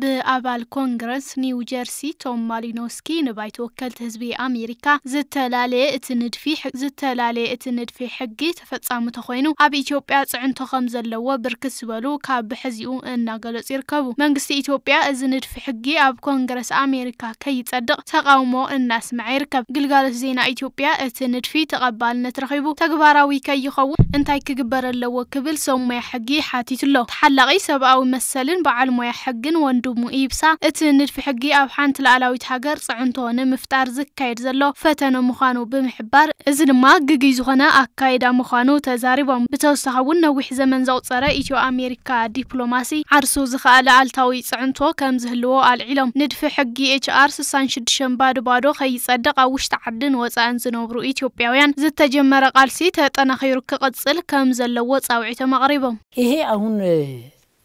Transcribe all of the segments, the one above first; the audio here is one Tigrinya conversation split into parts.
ብኣባል ኮንግረስ ኒው ጀርሲ ቶም ማሊኖስኪ ንባይቶ ወከልቲ ህዝቢ ኣሜሪካ፣ ዝተላለየ እቲ ንድፊ ሕ- ዝተላለየ እቲ ንድፊ ሕጊ ተፈጻሚ ተኾይኑ ኣብ ኢትዮጵያ ጽዕንቶ ከም ዘለዎ ብርክት ዝበሉ ካብ ብሕዚኡ እናገለጹ ይርከቡ። መንግስቲ ኢትዮጵያ እዚ ንድፊ ሕጊ ኣብ ኮንግረስ ኣሜሪካ ከይጸድቕ ተቓውሞ እናስምዐ ይርከብ። ግልጋሎት ዜና ኢትዮጵያ እቲ ንድፊ ተቐባልነት ረኺቡ ተግባራዊ ከይኸውን እንታይ ክግበር ኣለዎ ክብል ሰብ ሞያ ሕጊ ሓቲቱ ኣሎ። ተሓላቒ ሰብኣዊ መሰልን በዓል ሞያ ሕግን ወንድሙ ኢብሳ፣ እቲ ንድፊ ሕጊ ኣብ ሓንቲ ሉዓላዊት ሃገር ጽዕንቶ ንምፍጣር ዝካየድ ዘሎ ፈተነ ምዃኑ ብምሕባር፣ እዚ ድማ ግጉይ ዝኾነ ኣካይዳ ምዃኑ ተዛሪቦም። ብተወሳኺ እውን ነዊሕ ዘመን ዘቑጸረ ኢትዮ ኣሜሪካ ዲፕሎማሲ ዓርሱ ዝኸኣለ ኣሉታዊ ጽዕንቶ ከም ዝህልዎ ኣልዒሎም። ንድፊ ሕጊ ኤች ኣር ስሳን ሽዱሽተን ባዶ ባዶ ከይጸድቕ ኣብ ውሽጢ ዓድን ወጻእን ዝነብሩ ኢትዮጵያውያን ዝተጀመረ ቃልሲ ተጠናኺሩ ክቕጽል ከም ዘለዎ ጻውዒቶም ኣቕሪቦም። ይሄ አሁን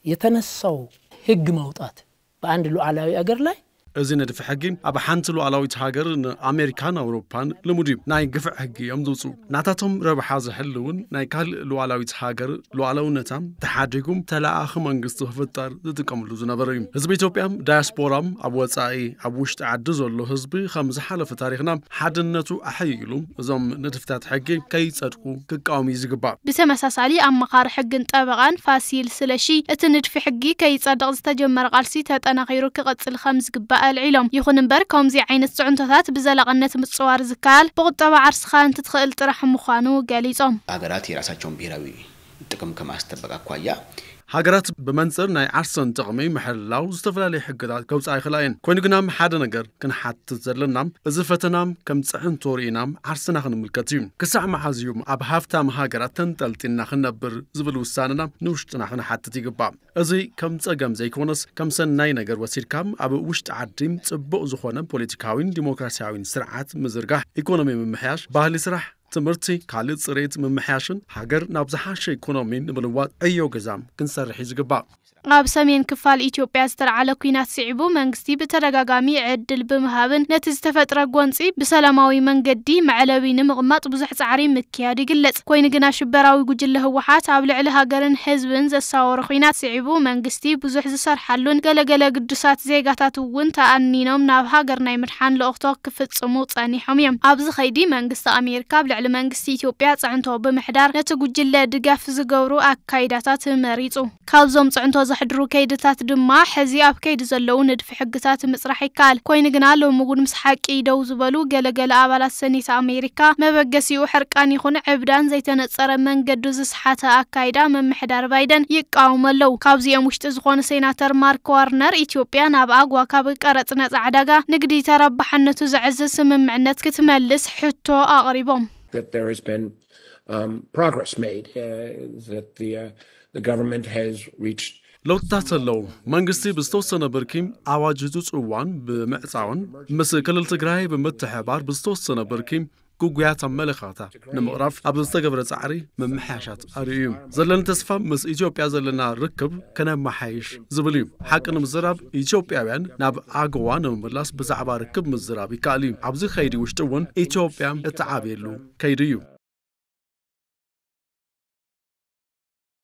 የተነሳው ህግ ማውጣት በአንድ ሉዓላዊ አገር ላይ እዚ ንድፊ ሕጊ ኣብ ሓንቲ ሉዓላዊት ሃገር ንኣሜሪካን ኣውሮፓን ልሙድ እዩ። ናይ ግፍዕ ሕጊ እዮም ዝውፅኡ። ናታቶም ረብሓ ዝሕልውን ናይ ካልእ ሉዓላዊት ሃገር ሉዓላውነታ ተሓዲጉ ተለኣኣኺ መንግስቲ ክፍጠር ዝጥቀምሉ ዝነበሩ እዩ። ህዝቢ ኢትዮጵያ ዳያስፖራም ኣብ ወፃኢ ኣብ ውሽጢ ዓዲ ዘሎ ህዝቢ ከም ዝሓለፈ ታሪኽና ሓድነቱ ኣሐይሉ እዞም ንድፍታት ሕጊ ከይፀድቁ ክቃወም እዩ ዝግባእ። ብተመሳሳሊ ኣማኻሪ ሕግን ጠበቓን ፋሲል ስለሺ እቲ ንድፊ ሕጊ ከይጸድቕ ዝተጀመረ ቃልሲ ተጠናኺሩ ክቕጽል ከም ዝግባእ ኣልዒሎም። ይኹን እምበር ከምዚ ዓይነት ጽዕንቶታት ብዘላቕነት ምጽዋር ዝከኣል ብቁጠባ ዓርስኻ እንትትኽእል ጥራሕ ምዃኑ ገሊጾም። ሀገራት የራሳቸውን ብሔራዊ ጥቅም ከማስጠበቅ አኳያ ሃገራት ብመንፅር ናይ ዓርሰን ጥቕሚ ምሕላው ዝተፈላለዩ ሕግታት ከውፅኣ ይኽእላ እየን። ኮይኑ ግና ሓደ ነገር ክንሓትት ዘለና እዚ ፈተና ከም ፅዕንቶ ርኢና ዓርስና ክንምልከት እዩ። ክሳዕ መዓዝ እዩ ኣብ ሃፍታም ሃገራት ተንጠልጢልና ክንነብር ዝብል ውሳነና ንውሽጥና ክንሓትት ይግባእ። እዚ ከም ፀገም ዘይኮነስ ከም ሰናይ ነገር ወሲድካ ኣብ ውሽጢ ዓዲ ፅቡቕ ዝኾነ ፖለቲካዊን ዲሞክራሲያዊን ስርዓት ምዝርጋሕ፣ ኢኮኖሚ ምምሕያሽ፣ ባህሊ ስራሕ፣ ትምህርቲ፣ ካልእ ፅሬት ምምሕያሽን ሃገር ናብ ዝሓሸ ኢኮኖሚ ንምልዋጥ ዕዮ ገዛ ክንሰርሕ እዩ ዝግባእ። ኣብ ሰሜን ክፋል ኢትዮጵያ ዝተለዓለ ኲናት ስዒቡ መንግስቲ ብተደጋጋሚ ዕድል ብምሃብን ነቲ ዝተፈጥረ ጎንፂ ብሰላማዊ መንገዲ መዕለቢ ንምቕማጥ ብዙሕ ፃዕሪ ምክያዱ ይግለፅ። ኮይኑ ግና ሽበራዊ ጉጅለ ህወሓት ኣብ ልዕሊ ሃገርን ህዝብን ዘሳወሮ ኲናት ስዒቡ መንግስቲ ብዙሕ ዝሰርሓሉን ገለገለ ግዱሳት ዜጋታት እውን ተኣኒኖም ናብ ሃገር ናይ ምድሓን ልእኽቶ ክፍፅሙ ጸኒሖም እዮም። ኣብዚ ኸይዲ መንግስቲ ኣሜሪካ ኣብ ልዕሊ መንግስቲ ኢትዮጵያ ጽዕንቶ ብምሕዳር ነቲ ጉጅለ ድጋፍ ዝገብሩ ኣካይዳታት መሪጹ። ካብዞም ጽዕንቶ ዘሕድሩ ከይድታት ድማ ሕዚ ኣብ ከይዲ ዘለዉ ንድፊ ሕግታት ምጽራሕ ይከኣል። ኮይኑ ግና ሎሚ እውን ምስ ሓቂ ደው ዝበሉ ገለገለ ኣባላት ሰኔት ኣሜሪካ መበገሲኡ ሕርቃን ይኹን ዕብዳን ዘይተነጸረ መንገዱ ዝስሓተ ኣካይዳ ምምሕዳር ባይደን ይቃወሙ ኣለዉ። ካብዚኦም ውሽጢ ዝኾኑ ሴናተር ማርክ ዋርነር ኢትዮጵያ ናብ ኣግዋ ካብ ቀረጽ ነጻ ዕዳጋ ንግዲ ተረባሕነቱ ዘዕዝዝ ስምምዕነት ክትመልስ ሕቶ ኣቕሪቦም። that there has been um, progress made, uh, that the, uh, the government has reached ለውጥታት ኣለዉ። መንግስቲ ብዝተወሰነ ብርኪ ኣዋጅ ህፁፅ እዋን ብምዕፃውን ምስ ክልል ትግራይ ብምትሕባር ብዝተወሰነ ብርኪ ግጉያት ኣመለኻታ ንምቕራፍ ኣብ ዝተገብረ ፃዕሪ ምምሕያሻት ኣርእዩ እዩ። ዘለኒ ተስፋ ምስ ኢትዮጵያ ዘለና ርክብ ከነመሓይሽ ዝብል እዩ። ሓቂ ንምዝራብ ኢትዮጵያውያን ናብ ኣገዋ ንምምላስ ብዛዕባ ርክብ ምዝራብ ይከኣል እዩ። ኣብዚ ከይዲ ውሽጢ እውን ኢትዮጵያ እትዓብየሉ ከይዲ እዩ።